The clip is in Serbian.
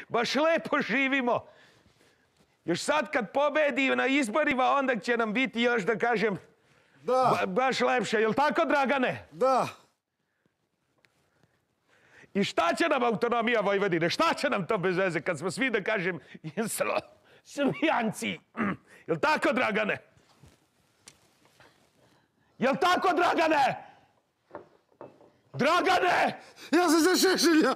Baš lepo živimo. Još sad kad pobedi na izborima, onda će nam biti još, da kažem, baš lepše. Jel' tako, Dragane? Da. I šta će nam autonomija Vojvodine? Šta će nam to bez veze kad smo svi, da kažem, Srbijanci? Jel' tako, Dragane? Jel' tako, Dragane? Dragane! Ja sam za Šešelja!